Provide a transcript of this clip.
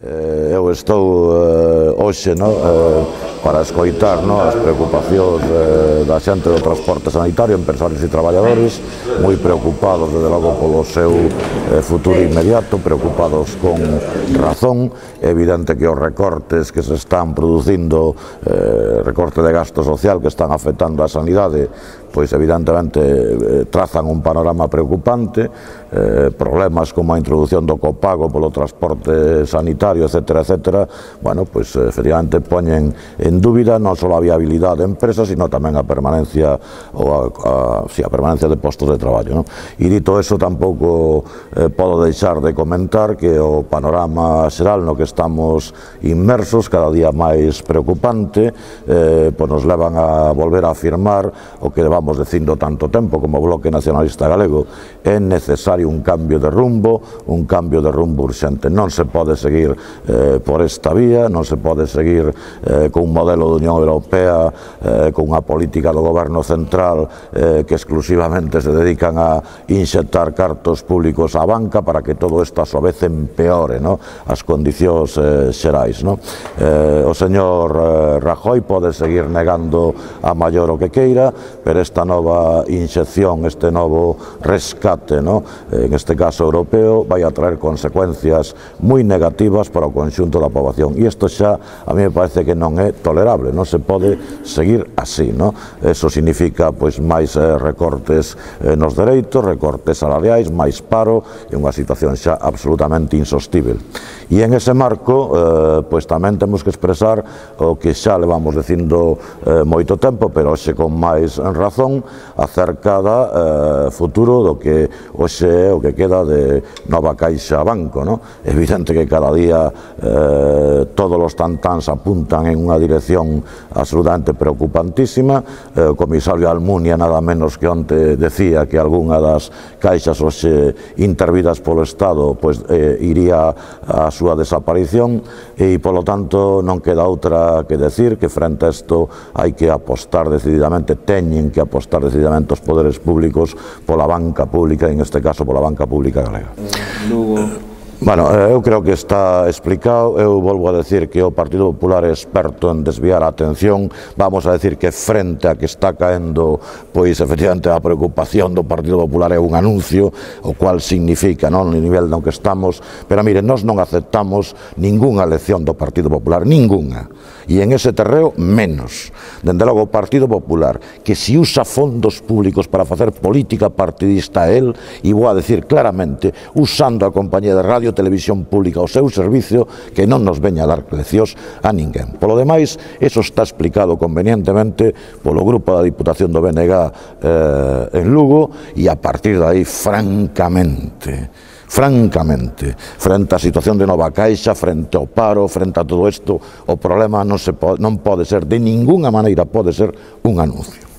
Eu estou hoxe para escoitar as preocupacións da xente do transporte sanitario, empresarios e traballadores, moi preocupados, desde logo, polo seu futuro inmediato, preocupados con razón. É evidente que os recortes que se están producindo, recorte de gasto social que están afectando a sanidade, pois evidentemente trazan un panorama preocupante, problemas como a introducción do copago polo transporte sanitario, etcétera, etcétera, bueno, pois efectivamente poñen en dúbida non só a viabilidade de empresas, sino tamén a permanencia a permanencia de postos de traballo. E dito eso, tampouco podo deixar de comentar que o panorama xeral no que estamos inmersos, cada día máis preocupante, pois nos levan a volver a afirmar o que vamos dicindo tanto tempo como Bloque Nacionalista Galego: é necesario un cambio de rumbo urxente. Non se pode seguir por esta vía, non se pode seguir con un modelo de Unión Europea, con unha política do goberno central que exclusivamente se dedican a inxectar cartos públicos á banca para que todo isto a súa vez empeore as condicións xerais. O señor Rajoy pode seguir negando a maior o que queira, pero esta nova inxección, este novo rescate, en este caso europeo, vai a traer consecuencias moi negativas para o conxunto da poboación. E isto xa a mí me parece que non é tolerable, non se pode seguir así. Eso significa máis recortes nos dereitos, recortes salariais, máis paro, e unha situación xa absolutamente insostível. E en ese marco, tamén temos que expresar o que xa levamos dicindo moito tempo, pero hoxe con máis razón, acerca do futuro do que hoxe é o que queda de Nova Caixa Banco. É evidente que cada día todos os tantáns apuntan en unha dirección absolutamente preocupantísima. O comisario Almunia nada menos que onte decía que algunha das caixas hoxe intervidas polo Estado iría a súa desaparición, e polo tanto non queda outra que decir que frente a isto hai que apostar decididamente, teñen que apostar decididamente os poderes públicos pola banca pública, en este caso pola banca pública galega. Bueno, eu creo que está explicado. Eu volvo a decir que o Partido Popular é experto en desviar a atención. Vamos a decir que frente a que está caendo, efectivamente, a preocupación do Partido Popular é un anuncio, o cual significa, no nivel no que estamos, pero mire, nós non aceptamos ningunha lección do Partido Popular, ningunha. E en ese terreo, menos. Dende logo, o Partido Popular, que se usa fondos públicos para facer política partidista a él, e vou a decir claramente, usando a compañía de radio televisión pública ao seu servicio, que non nos veña a dar leccións a ninguén. Polo demais, eso está explicado convenientemente polo grupo da Diputación do BNG en Lugo, e a partir de aí, francamente, frente á situación de Nova Caixa, frente ao paro, frente a todo isto, o problema non pode ser, de ningunha maneira pode ser un anuncio.